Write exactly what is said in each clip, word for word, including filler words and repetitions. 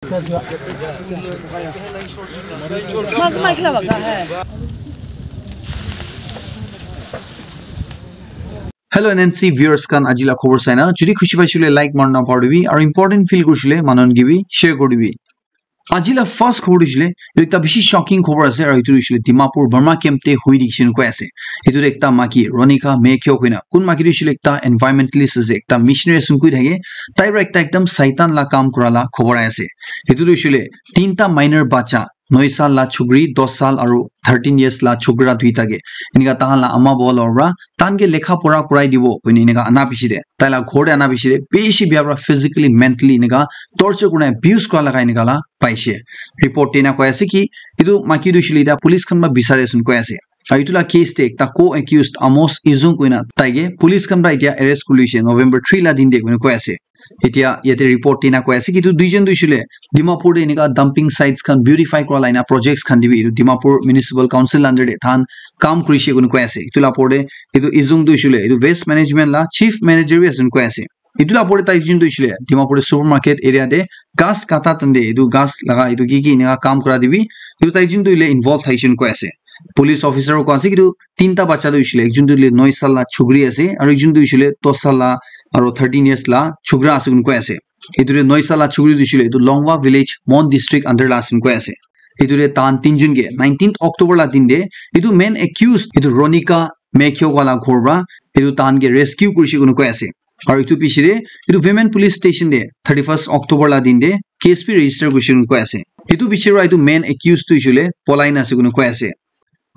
Hello N N C viewers khan, aji la khobor saina jodi khushi paisile like marna paribi aru important feel kurisile manon gibi share kuribi. Aji la first khobor tu hoishe le, etu ekta bishi shocking khobor ase, aru etu tu hoishe le Dimapur Burma camp te hui dikhi shinu koi ase. Etu tu ekta maki, Ronika Mekyo koina. Kun maki tu hoishe le ekta environmentalist ase, ekta missionary ase koi thake. Tai para ekta ekdam saitan la kam kura la khobor ahi ase. Etu tu hoishe le tinta minor bacha, noi sal la chukri, dos sal aru thirteen years la chukra duita ke. Enika tahan la ama baba la para, tahan ke lekha pora kurai dibo, koina enika ana piche te. Tai la ghor te ana piche te, bishi bia para physically, mentally enika torture kurina abuse kura laga enika la paishe. Report te ena koi ase ki, etu maki tu hoishe le eta police khan para bisari ase koi ase. Aru etu la case te ekta co-accused Amos Izung koina tai ke police khan para etia arrest kuri loishe November three la din te koina koi ase. Etia yate report te ena koi ase ki etu duijon tu hoishe le Dimapur te enika dumping sites khan beautify kura la ena projects khan te bi etu Dimapur Municipal Council under te tahan kam kurishe koina koi ase. Etu la opor te etu Izung tu hoishe le etu waste management la chief manager bi ase koina koi ase. Etu la opor te tai jun tu hoishe le Dimapur te supermarket area te ghas kata tande etu ghas laga etu ki ki enika kam kura te bi etu tai jun tu hoile involve thaishe koina koi ase. Police officer koi ase ki etu tinta bacha tu hoishe le ekjun tu hoile noi sal la chukri ase aru ekjun tu hoishe le dos sal la aru thirteen years la chukra ase koina koi ase. Etu te noi sal la chukri tu hoishe le etu Longwa village, Mon district under la ase koina koi ase. Etu te tahan tinjun ke nineteenth October la din te etu main accused etu Ronika Mekyo wala ghor para etu tahan ke rescue kurishe koina koi ase. Aru etu piche te etu women police station te thirty-first October la din te case bi register kurishe koina koi ase. Etu piche para etu main accused tu hoishe le polai na ase koina koi ase.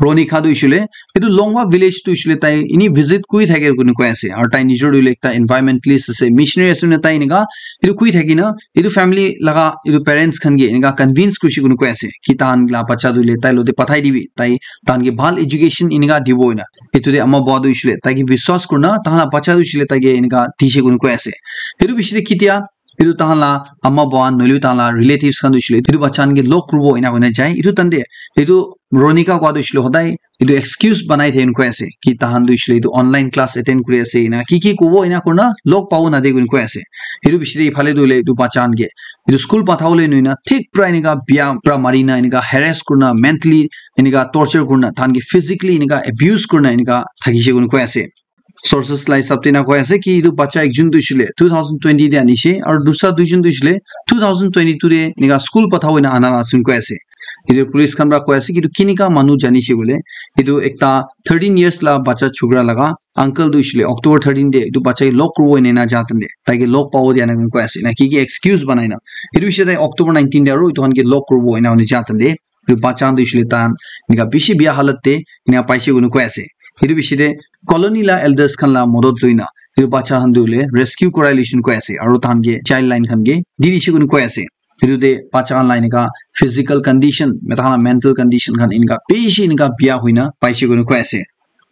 Ronika tu hoishe le etu Longwa village tu hoishe le tai eni visit kuri thake koina koi ase. Aru tai nijor tu hoile ekta environmentalist ase, missionary ase koina tai enika etu koi thaki na etu family laga etu parents khan ke enika convince kurishe koina koi ase ki tahan la bacha tu hoile tai logote pathai dibi, tai tahan ke bhal education enika dibo koina. Etu te ama baba tu hoishe le tai ke biswas kurina tahan la bacha tu hoishe le tai ke enika dishe koina koi ase. Etu piche te ketia etu tahan la ama baba nohoile tahan la relatives khan tu hoishe le etu bacha khan ke log kuribo ena koina jai. Etu tande etu Ronika koi tu hoishe le hodai etu excuse banai thake koina koi ase ki tahan tu hoishe le etu online class attend kuri ase ena ki ki kobo ena kurina log pabo nade koina koi ase. Etu piche te ephale tu hoile etu bacha khan ke etu school pathabo le nohoina thik para enika bia para marina enika harass kurina mentally enika torture kurina tahan ke physically enika abuse kurina enika thakishe koina koi ase. Sources la hisab te ena koi ase ki etu bacha ekjun tu hoishe le two thousand twenty te anishe aru dusra duijon tu hoishe le two thousand twenty-two te enika school pathabo ena ana la ase koina koi ase. Etu police khan para koi ase ki etu kinika manu janishe koile etu ekta thirteen years la bacha chukra laga uncle tu hoishe le October thirteen te etu bacha ke log kuribo ena ena ja tande tai ke log pabo dia na koina koi ase na ki ki excuse banai na. Etu piche te October nineteen te aru etu khan ke log kuribo ena hoina ja tande etu bacha khan tu hoishe le tahan enika bishi bia halat te enika paishe koina koi ase. Etu piche te colony la elders khan la modot loina etu bacha khan tu hoile rescue kurai loishe koina koi ase aru tahan ke child line khan ke di dishe koina koi ase. Etu te bacha khan la enika physical condition, meta khan la mental condition khan enika bishi enika bia hoina paishe koina koi ase.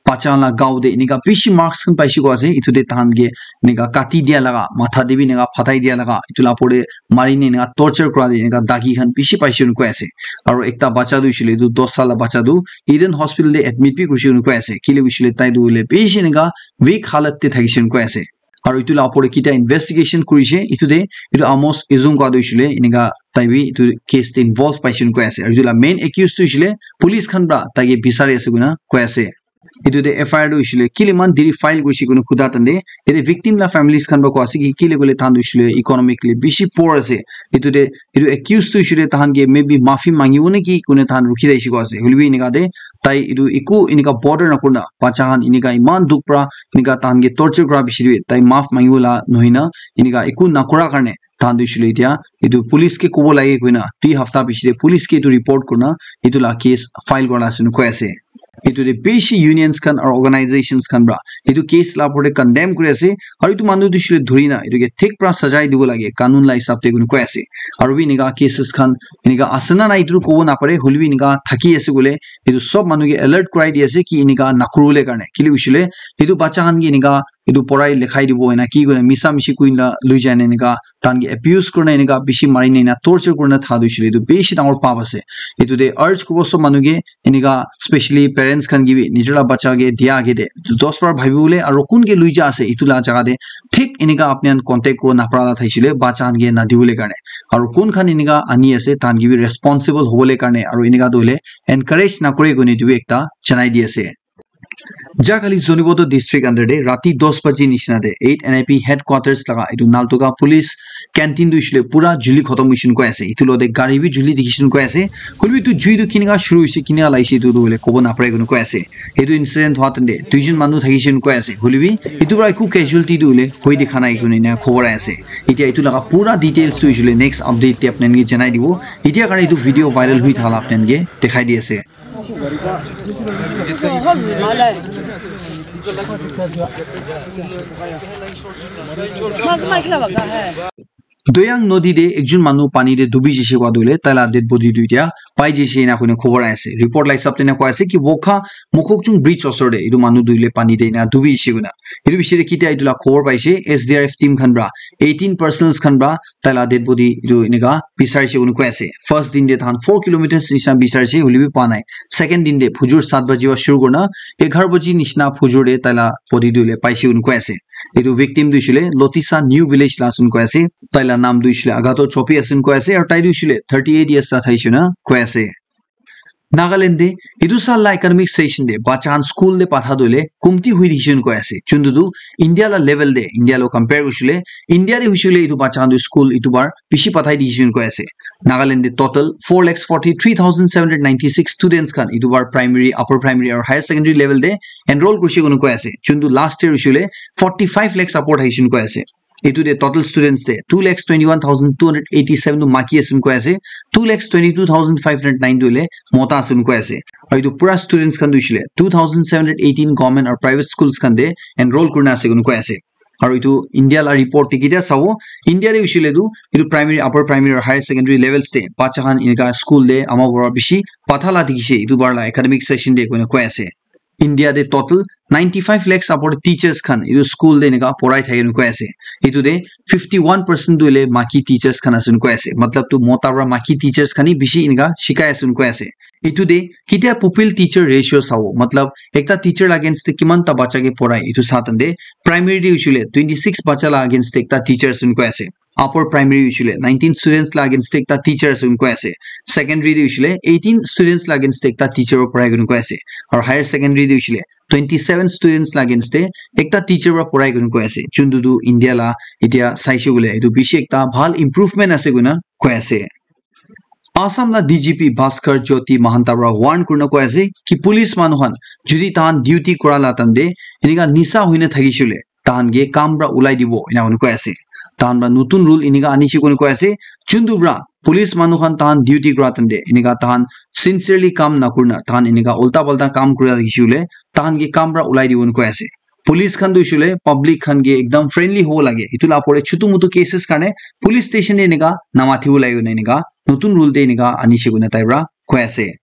Bacha khan la gao te enika bishi marks khan paishe koina ase. Etu te tahan ke enika kati dia laga, matha te bi enika phatai dia laga, etu la opor te mari ne enika torture kura te enika dagi khan bishi paishe koina koi ase. Aru ekta bacha tu hoishe le etu dos sal la bacha tu Eden Hospital te admit bi kurishe koina koi ase. Kile hoishe le tai tu hoile bishi enika weak halat te thakishe koina koi ase. Aru etu la opor te ketia investigation kurishe, etu te etu Amos Izung koi tu hoishe le enika tai bi etu case te involve paishe koina koi ase. Aru etu la main accused tu hoishe le police khan para tai ke bisari ase koina koi ase. Etu te F I R tu hoishe le kile eman deri file kurishe koina khuda tande, yate victim la families khan para koi ase ki kile koile tahan tu hoishe le economically bishi poor ase. Etu te etu accused tu hoishe le tahan ke maybe mafi mangibo neki koina tahan rukhi thakishe koina ase. Hoile bi enika te tai etu eku enika bother na kurina bacha khan enika eman dukh para enika tahan ke torture kura piche te tai maaf mangibo la nohoina enika eku na kura karne tahan tu hoishe le etia etu police ke kobo lage koina dui hafta piche te police ke etu report kurina etu la case file kura la ase koina koi ase. Etu te bishi unions khan aru organizations khan para etu case la opor te condemn kuri ase aru etu manu tu hoishe le dhuri na etu ke thik para sajai dibo lage kanun la hisab te koina koi ase. Aru bi enika cases khan enika ase na nai etu kobo napare, hoile bi enika thaki ase koile etu sob manu ke alert kurai di ase ki enika nakuri bole karne, kile hoishe le etu bacha khan ke enika etu porai likhai dibo ena ki koina misa mishi koina lui jai na enika tahan ke abuse kurina enika bishi mari na ena torture kurina tha tu hoishe le etu bishi dangor paap ase. Etu te urge kuribo sob manu ke enika specially parents khan ke bi nijor la bacha ke dia age te dos bar bhabi bole aru kun ke lui ja ase etu la jaga te thik enika apni khan contact kuribo napara la thaishe le bacha khan ke nadi bole karne. Aru kun khan enika ani ase, tahan ke bi responsible hobole karne aru enika tu hoile encourage nakore koine etu bi ekta janai di ase. Jahakali Zunheboto district under te rati dos baji nishina te eight N I P headquarters laga etu Naltoka police canteen tu hoishe le pura juli khotom hoishe koi ase. Etu logote gari bi juli dikhishe koi ase. Hoilebi etu jui tu kinika shuru hoishe, kinika lagishe, etu tu hoile kobo napare koina koi ase. Etu incident hua time te duijon manu thakishe koi ase. Hoilebi etu para eku casualty tu hoile hoi dikha nai koina khobor ahi ase. Etia etu laga pura details tu hoishe le next update te apni khan ke janai dibo. Etia karne etu video viral hoi thaka la apni khan ke dekhai di ase. Doyang nodi te ekjon manu pani te dubi jishe koa tu hoile taila dead body tu etia pai jishe ena koina khobor ahi ase. Report la hisab te ena koi ase ki Wokha Mokokchung bridge osor te etu manu tu hoile pani te ena dubi jishe koina. Etu bishi te kitia etu la khobor paishe, S D R F team khan para eighteen personnels khan para taila dead body etu enika bisarishe koina koi ase. First din te tahan four kilometers nishina bisarishe, hoilebi pa nai. Second din te phujur saat baji para shuru kurina eghar baji nishina phujur te taila body tu hoile paishe koina koi ase. Etu victim tu hoishe le Lotisa New Village la ase koina koi ase. Taila naam tu hoishe le Agato Chopi ase koina koi ase. Aru tai tu hoishe le thirty eight years la thaishe koina koi ase. Nagaland te etu saal la academic session te bacha khan school te patha tu hoile kumti hui dikhishe koina koi ase. Chuntu tu India la level te, India lo compare kurishe le, India te hoishe le etu bacha khan tu school etu bar bishi pathai dikhishe koina koi ase. Nagaland te total four lakhs forty three thousand seven hundred ninety six students khan etu bar primary, upper primary aru higher secondary level te enroll kurishe koina koi ase. Chuntu last year hoishe le forty five lakhs support thaishe koina koi ase. Etu te total students te two lakhs twenty one thousand two hundred eighty seven tu maki ase koina koi ase, two lakhs twenty two thousand five hundred nine tu hoile mota ase koina koi ase. Aru etu pura students khan tu hoishe le two thousand seven hundred eighteen government aru private schools khan te enroll kurina ase koina koi ase. Aru etu India la report te kitia sabo, India te hoishe le tu etu primary, upper primary aru higher secondary levels te bacha khan enika school te ama bora bishi patha la dikhishe etu bar la academic session te koina koi ase. India te total ninety five lakhs upor teachers khan etu school te enika porai thaki koina koi ase. Etu te fifty one percent tu hoile maki teachers khan ase koina koi ase. Matlab tu mota para maki teachers khan hi bishi enika shikai ase koina koi ase. Etu te kitia pupil teacher ratio sabo, matlab ekta teacher la against te kiman ta bacha ke porai etu sa time te primary te hoishe le twenty six bacha la against te ekta teacher ase koina koi ase. Upper primary hoishe le nineteen students la against te ekta teacher ase koina koi ase. Secondary te hoishe le eighteen students la against te ekta teacher para porai koina koi ase. Aru higher secondary te hoishe le twenty seven students la against te ekta teacher para porai koina koi ase. Chuntu tu India la etia saishe koile etu bishi ekta bhal improvement ase koina koi ase. Assam la D G P Bhaskar Jyoti Mahanta para warn kurina koi ase ki police manu khan jodi tahan duty kura la time te enika nisa hoina thakishe le tahan ke kam para ulai dibo ena hoina koi ase. Tahan para notun rule enika anishe koina koi ase. Chuntu para police manu khan tahan duty kura time te enika tahan sincerely kam nakurina tahan enika ulta palta kam kura thakishe le tahan ke kam para ulai dibo koi ase. Police khan tu hoishe le public khan ke ekdam friendly hobo lage. Etu la opor te chutu mutu cases karne police station te enika namathibo lage koina enika notun rule te enika anishe koina tai para koi ase.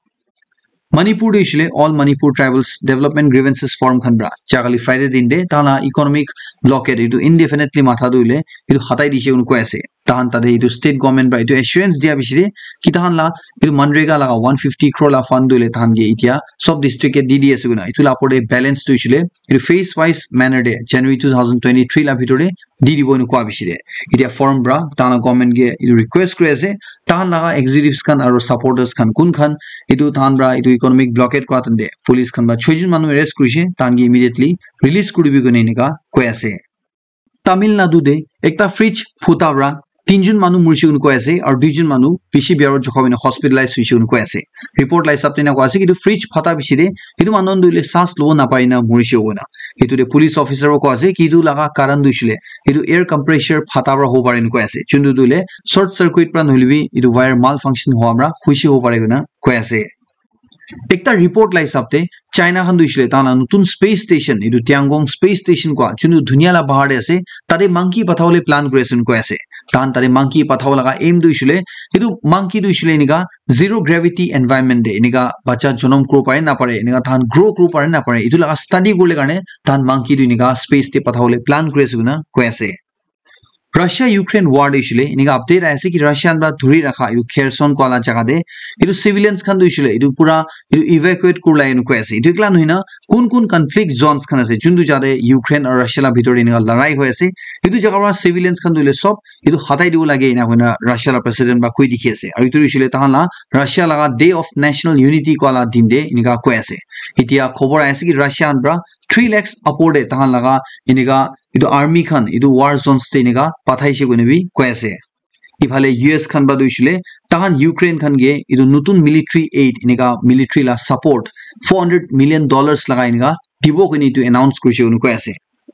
Manipur te hoishe le All Manipur Tribals Development Grievances Forum khan para jahakali Friday din te tahan la economic blockade etu indefinitely matha tu hoile etu hatai dishe koina koi ase. Tahan tate etu state government para etu assurance dia bishi te ki tahan la etu MGNREGA laga one fifty crore la fund tu hoile tahan ke etia sob district ke di di ase koina. Etu la opor te balance tu hoishe le etu phase wise manner te January two thousand twenty three la bhitor te di dibo ena koi bishi te. Etia forum para tahan la government ke etu request kuri ase, tahan laga executives khan aru supporters khan kun khan etu tahan para etu economic blockade kura time te police khan para choi jon manu arrest kurishe, tahan ke immediately release kuribi koina enika koi ase. Tamil Nadu te ekta fridge phuta para tinjon manu murishe koina koi ase aru duijon manu bishi biya para jukha hoina hospitalize hoishe koina koi ase. Report la hisab te ena koi ase ki etu fridge phata bishi te etu manu khan tu hoile saas lobo napari na murishe koina. Etu te police officer para koi ase ki etu laga karan tu hoishe le etu air compressor phata para hobo pare ena koi ase. Chuntu tu hoile short circuit para nohoile bi etu wire malfunction hua para hoishe hobo pare koina koi ase. Ekta report la hisab te China khan tu hoishe le tahan la notun space station, etu Tiangong space station koi chuntu dunia la bahar te ase, tate monkey pathabole plan kuri ase koina koi ase. Tahan tate monkey pathabo laga aim tu hoishe le etu monkey tu hoishe le enika zero gravity environment te enika bacha jonom kuribo pare napare, enika tahan grow kuribo pare napare, etu laga study kuribole karne tahan monkey tu enika space te pathabole plan kuri ase koina koi ase. Russia Ukraine war de hoishe le enika update ahi ase ki Russia khan para dhuri rakha etu Kherson koa la jaga de etu civilians khan tu hoishe le etu pura etu evacuate kurila ena koi ase. Etu ekla nohoi na kun kun conflict zones khan ase juntu jaga de Ukraine aru Russia la bitor de enika larai hoi ase, etu jaga para civilians khan tu hoile sob etu hatai dibo lage ena hoina Russia la president para koi dikhi ase. Aru etu hoishe le tahan la Russia laga Day of National Unity koa la din de enika koi ase. Etia khobor ahi ase ki Russia khan para three lakhs upor de tahan laga enika etu army khan etu war zones te enika pathaishe koina bi koi ase. Iphale U S khan para tu hoishe le tahan Ukraine khan ke etu notun military aid enika military la support four hundred million dollars laga enika dibo koina etu announce kurishe koina koi ase.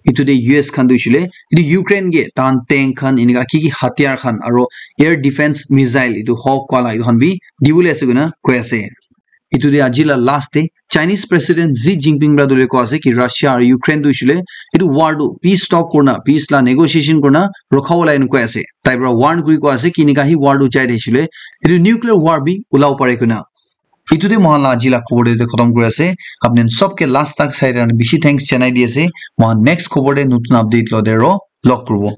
Etu de U S khan tu hoishe le etu Ukraine ke tahan tank khan enika ki ki hatiyar khan aro air defense missile etu Hawk wala etu khan bi dibole ase koina koi ase. Etu de aji la last de Chinese President Xi Jinping para tu le koi ase ki Russia aru Ukraine tu hoishe le etu war tu peace talk kurna, peace la negotiation kurna rokha wala ena koi ase. Tai para warn kuri koi ase ki enika hi war tu jai thakishe le etu nuclear war bi ulabo pare koina. Etu de moikhan la aji la khobor de khotom kuri ase. Apni khan sob ke last tak sai kena bishi thanks janai di ase. Moikhan next khobor de notun update lo de aro log kuribo.